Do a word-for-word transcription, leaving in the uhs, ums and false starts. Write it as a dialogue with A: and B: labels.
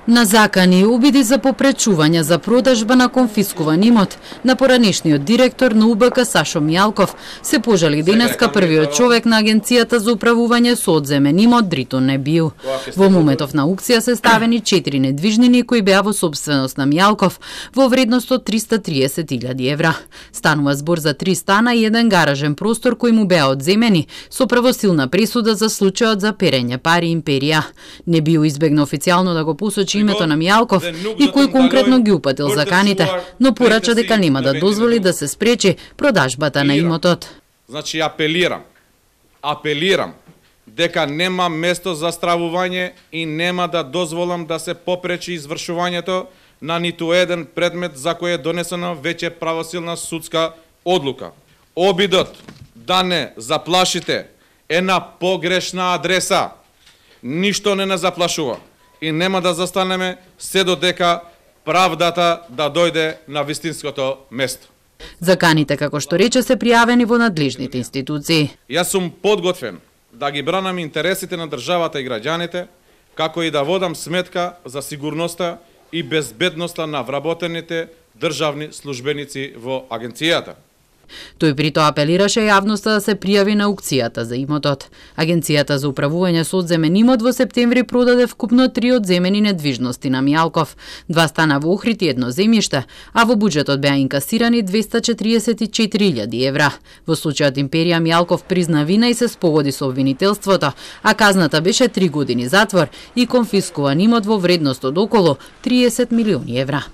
A: На закани и обиди за попречување за продажба на конфискуван имот на поранешниот директор на У Б К Сашо Мијалков се пожали денеска првиот човек на Агенцијата за управување со одземен имот Дритон Небију. Во моментов на аукција се ставени четири недвижнини кои беа во собственост на Мијалков во вредност од триста триесет илјади евра. Станува збор за три стана и еден гаражен простор кои му беа одземени со правосилна пресуда за случајот за перење пари империја. Небију избегна официјално да го посочи името на Мијалков и кој конкретно ги упатил заканите, но порача дека нема да дозволи да се спречи продажбата на имотот.
B: Значи апелирам, апелирам дека нема место за стравување и нема да дозволам да се попречи извршувањето на ниту еден предмет за кој е донесена веќе правосилна судска одлука. Обидот да не заплашите е на погрешна адреса. Ништо не не заплашува и нема да застанеме се додека правдата да дојде на вистинското место.
A: Заканите, како што рече, се пријавени во надлежните институции.
B: Јас сум подготвен да ги бранам интересите на државата и граѓаните, како и да водам сметка за сигурноста и безбедноста на вработените државни службеници во агенцијата.
A: Тој при тоа апелираше јавноста да се пријави на аукцијата за имотот. Агенцијата за управување со одземен имот во септември продаде вкупно три одземени недвижности на Мијалков, два стана во Охрид и едно земјиште, а во буџетот беа инкасирани двеста четириесет и четири илјади евра. Во случајот империја Мијалков призна вина и се спогоди со обвинителството, а казната беше три години затвор и конфискуван имот во вредност од околу триесет милиони евра.